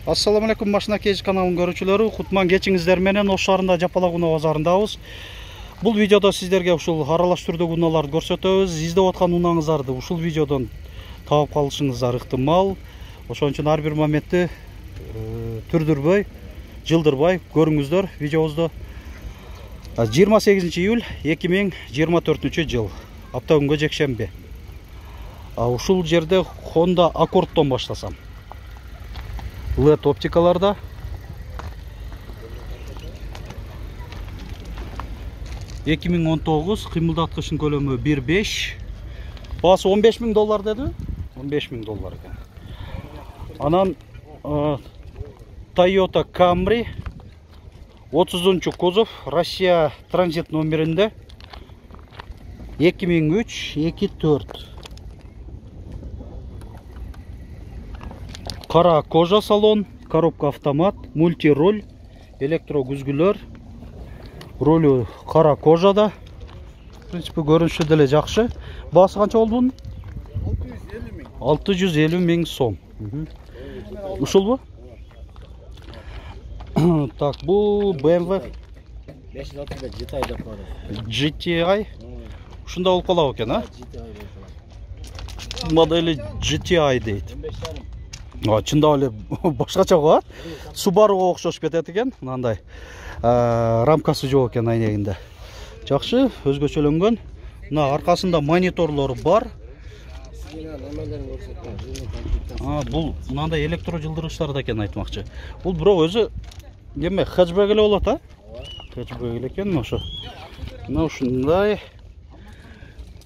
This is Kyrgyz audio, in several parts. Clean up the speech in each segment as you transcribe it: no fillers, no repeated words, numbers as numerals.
Assalamu alaikum машина кеж каналынын көрүүчүлөрү. Кутман кечиңиздер менен Ош шаарында Жапалак унаа базарындабыз. Бул видеодо сиздерге ушул аралаш түрдөгү унааларды көрсөтөбүз. Издеп аткан унааңыздарды ушул видеодон таап калышыңыздар ыктымал. Ошон үчүн ар бир моментти түрдүрбөй, жылдырбай көрүңүздөр видеобузду. 28 июль 2024 жыл. Апта күнгө жекшемби. Ушул жерде Honda Accordдон баштасам. LED оптикаларда. $2019 кыймылдаткычтын көлөмү 1.5. Баасы $15.000 деди. $15.000 экен. Анан Toyota Camry 30 кузов, Россия транзит номеринде 2003-24. Кара кожа салон, коробка автомат, мультироль, электрогүзгүлөр, ролю кара кожада. В принципе, көрүнүшү деле жакшы. Баасы канча болду бунун? 650 миң сом. Ушулбу? Так, бул BMW 535 GTI. Ушунда болуп калабы экен, а? Модели GTI дейт. Чындап эле башкача го, Subaru'га окшош кетет экен, мындай рамкасы жок экен айнегинде. Жакшы, өзгөчөлөнгөн. Мына аркасында мониторлору бар. Бул мындай электро жылдыргычтар да экен айтмакчы. Бул бирок өзү неме хэтчбэк эле болот, а? Хэтчбэк эле экен ошо. Мына ушундай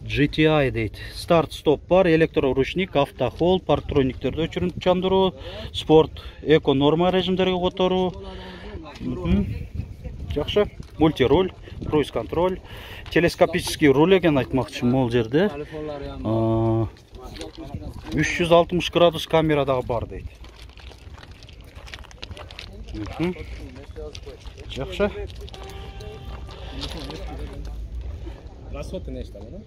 GTI дейт. Старт-стоп бар, электроручник, автохол, парктрониктерди өчүрүп чандыруу, спорт, эко норма режимдерге которуу. Жакшы. Мультироль, круиз контроль, телескопический руль экен айтмакчы могул жерде. 360 градус камера дагы бар дейт. Жакшы. Расходы нечто, да?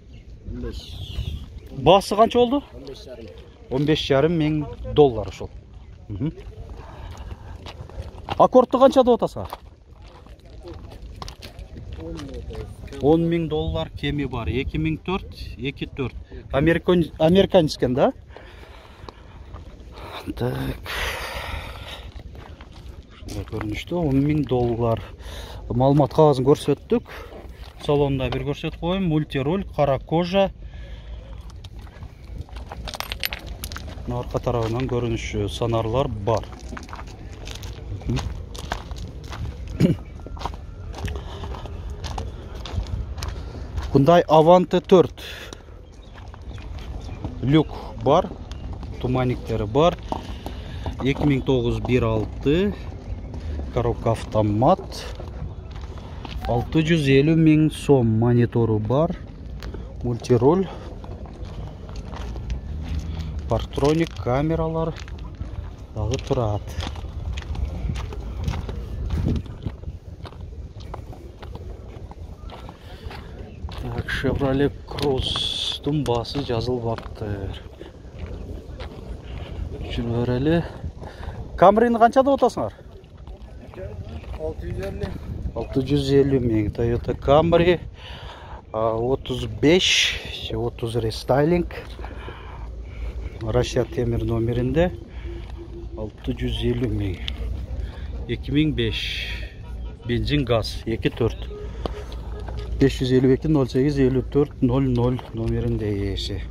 Баасы канча болду? $15,5 миң ошол. Аккордду канча деп атасың? $10,000 кеми бар. 2004-24. Американец экен, да? Так. Ушундай көрүнүштө $10,000. Маалымат кагазын көрсөттүк. Салонда бир көрсөтүп коеюн. Мультироль, кара кожа. Арка тарабынан көрүнүшү санарлар бар. Hyundai Avante 4. Люк бар, туманниктери бар. 2009 1.6. Коробка автомат. 650 миң сом. Монитору бар. Мультироль. Парктроник, камералар дагы турат. Так, Chevrolet Cruze'дун баасы жазылбаптыр. Жүрүп берели. Camry'ни канча деп атасыңар? 650 миң. Toyota Camry 35-30 рестайлинг. Россия темир номеринде 650 миң. 2005. Бензин газ 2.4. 552-08-54-00 номеринде ээси.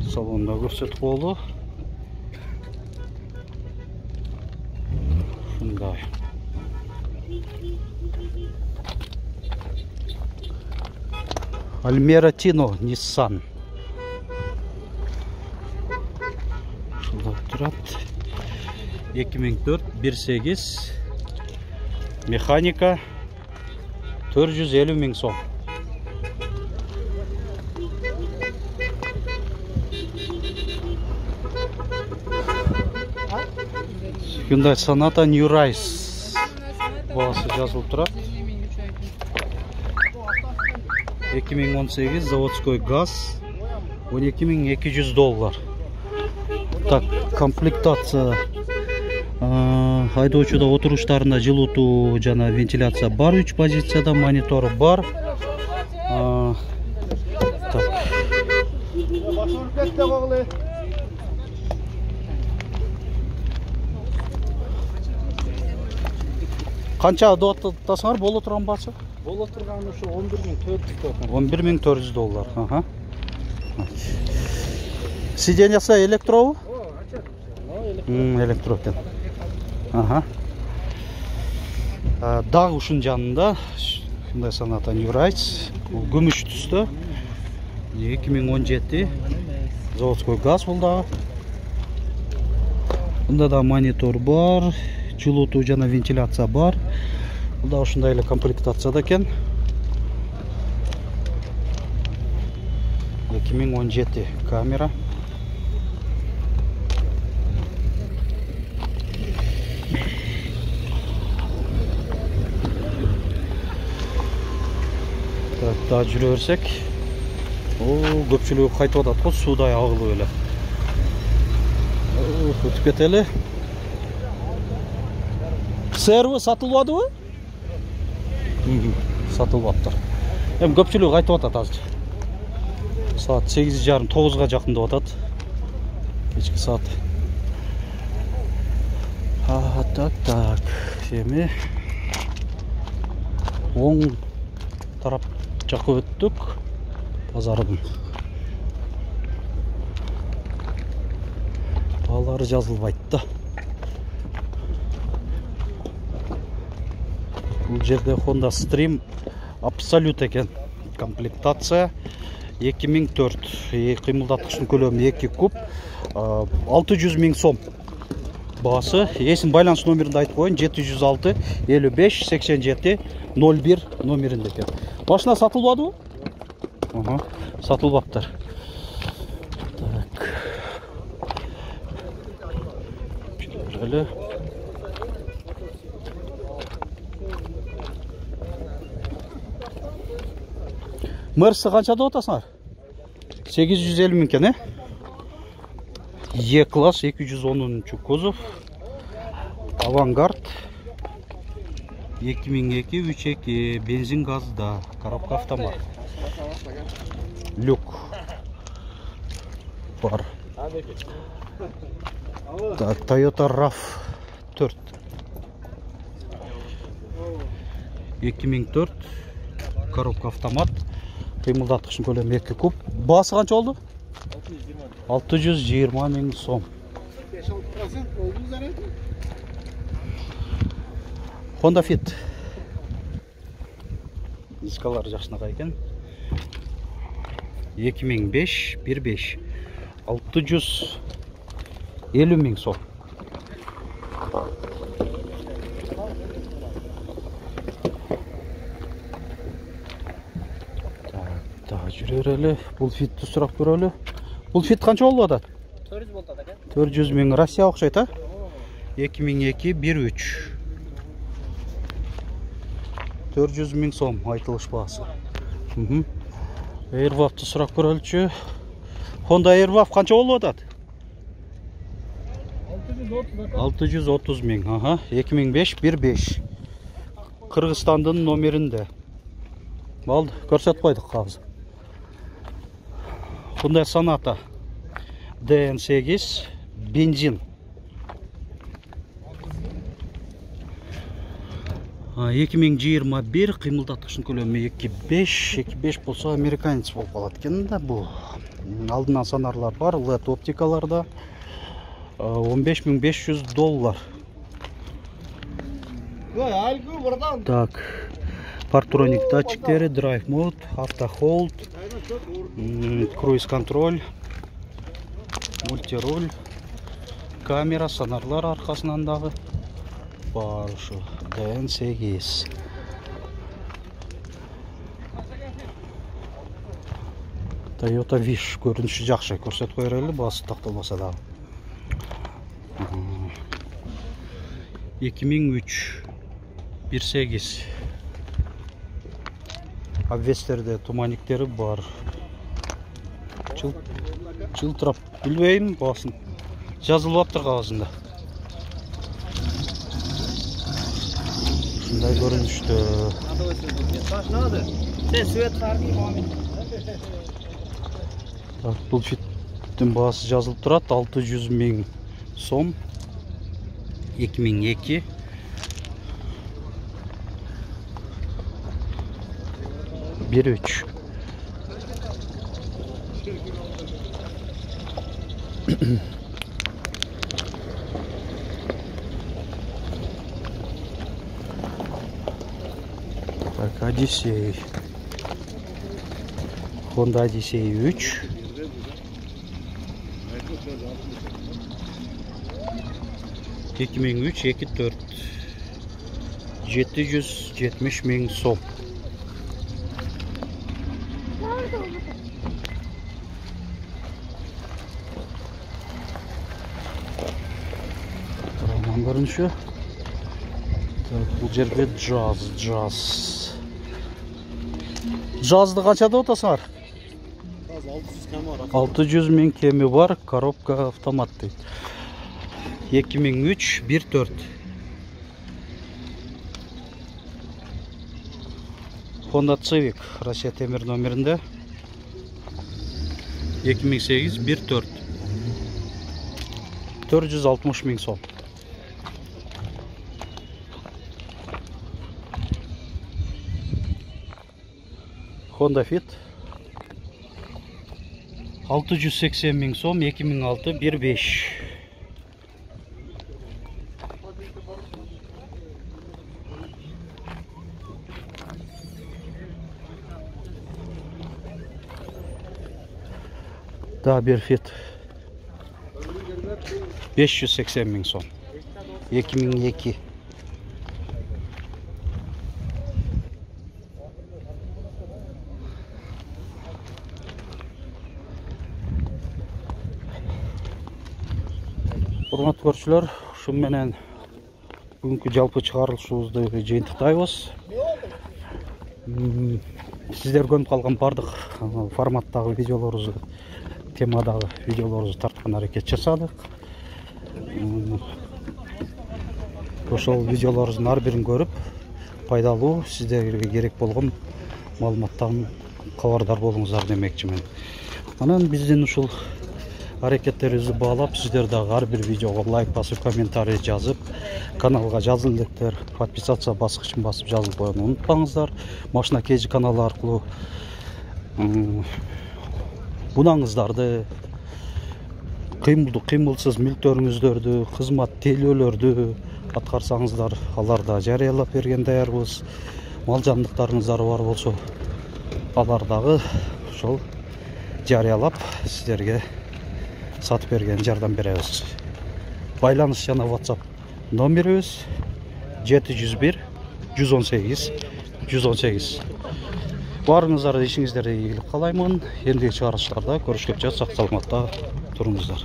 Салонда көрсөтүп болду. Ушундай. Almera Tino Nissan. Ушундай турат. 2004 1.8. Механика 450 миң сом. Hyundai Sonata New Rise. Баасы жазылып турат. 2018 заводской газ $12.200. Так, комплектация. Айдоочуда отуруштарында жылытуу жана вентиляция бар, 3 позицияда монитор бар. Так. Канча доттасыңар боло турган баасы? Боло турган ушу $11.400. $11.400. Ага. Сиденьясы электробу? Электро экен. Ага. Дагы ушунун жанында ушундай Sonata New Rides, бул күмүш түстө. 2017 заводской газ бул дагы. Бунда да монитор бар, жылытуу жана вентиляция бар. Бул да ушундай эле комплектацияда экен. 2017 камера. Так, да жүрө берсек. Көпчүлүгү кайтып атат го, суудай агылып эле. Өтүп кетели. Серві сатылбадыбы? Сатылбаптыр. Эми көпчүлүгү кайтып атат азыр. Саат 8:30-9га жакындап атат. Кечки саат. Так. Эми оң тарап жакка өттүк. Базардын. Баалары жазылбайт да. Бул жерде Honda Stream Absolute экен. Комплектация 2004. Кыймылдаткычтын көлөмү 2 куб. 600 000 сом. Баасы. Эсин байланыш номеринде айтып коеюн. 706 55 87 01 номеринде экен. Машина сатылбадыбы? Ага, сатылбаптыр. Так. Эле. Мерси канча деп атасыңар? 850 000 экен, E-класс 210 кузов. Авангард 2002 3.2 бензин газда, коробка автомат. Люк бар. Так, Toyota RAV4 2004 коробка автомат. Кыймылдаткычтын көлөмү 2 куб. Баасы канча болду? 620 000 сом. Honda Fit. Дискалар жакшынакай экен. 2005 15 650 000 сом. Так, жүрөр эле. Бул Fitти сурап көрөлү. Бул Fit канча болуп атат? 400 болот экен. 400 000 Россия окшойт, 2002 13 400 000 сом айтылыш баасы. Airwav'ты сурап көрөлчү. Honda Airwav канча болуп атат? 630 000. Ага, 2005 15 Кыргызстандын номеринде. Болду, көрсөтүп койдук азыр. Hyundai Sonata DN8 бензин. 2021 кыймылдаткычтын көлөмү 2.5 болсо американец болуп калат экен да бул. Алдынан сонарлар бар, LED оптикаларда $15.500. Так, партроник датчиктери, драйв мод, автохолд, круиз контроль, мультируль, камера, сонарлар аркасынан дагы бар ушу. DN8. Toyota Wish көрүнүшү жакшы, көрсөтүп койреле, баасы такталбаса дагы. 2003 18 обвестерде туманиктери бар. Жылтырап билбейм баасын. жазылып аптыр кагазында. Ушундай көрүнүштө. Бул фиттин баасы жазылып турат, 600 000 сом. 2002. Bir üç. Bak Odyssey. Honda Odyssey 3. ...2003, 2.4 770 000 som. Roman görünüşü. Bu жерде jazz. Jaz'dı kaçada otasar? 600 000 kemi var, коробка автомат deydi. 2003 1.4. Honda Civic Rusya temir номерinde. 2008 1.4. 460 000 som. Honda Fit 680 000 som, 2006 1.5. Daha bir Fit 580 000 som, 2002. Урматтуу көрүүчүлөр, ушун менен бүгүнкү жалпы чыгарылышыбызды жыйынтыктайбыз. Сиздер көрүп калган бардык форматтагы видеолорубузду, темадагы видеолорубузду тарткан аракет жасадык. Ошол видеолорубуздун ар бирин көрүп, пайдалуу, сиздерге керек болгон маалыматтан кабардар болуңуздар демекчимин. Анан биздин ушул аракеттерибизди баалап, сиздер дагы ар бир видеого лайк басып, комментарий жазып, каналга жазыл электер, подписация баскычын басып жазылып коюуну унутпаңыздар. Машина KG каналы аркылуу бунаңыздарды, кыймылдуу, кыймылсыз мүлктөрүңүздөрдү, кызмат тейлөөлөрдү аткарсаңыздар, аларда жарыялап берген даярбыз. Мал жандыктарыңыздар бар болсо, алар дагы ошол жарыялап сиздерге сатып берген жардам беребиз. Байланыш жана WhatsApp номерибиз 701 118 118. Барыңыздар, ишиңиздерде ийгилик каалаймын. Эндиги чыгарылыштарда көрүшкөнчө сак саламатта туруңуздар.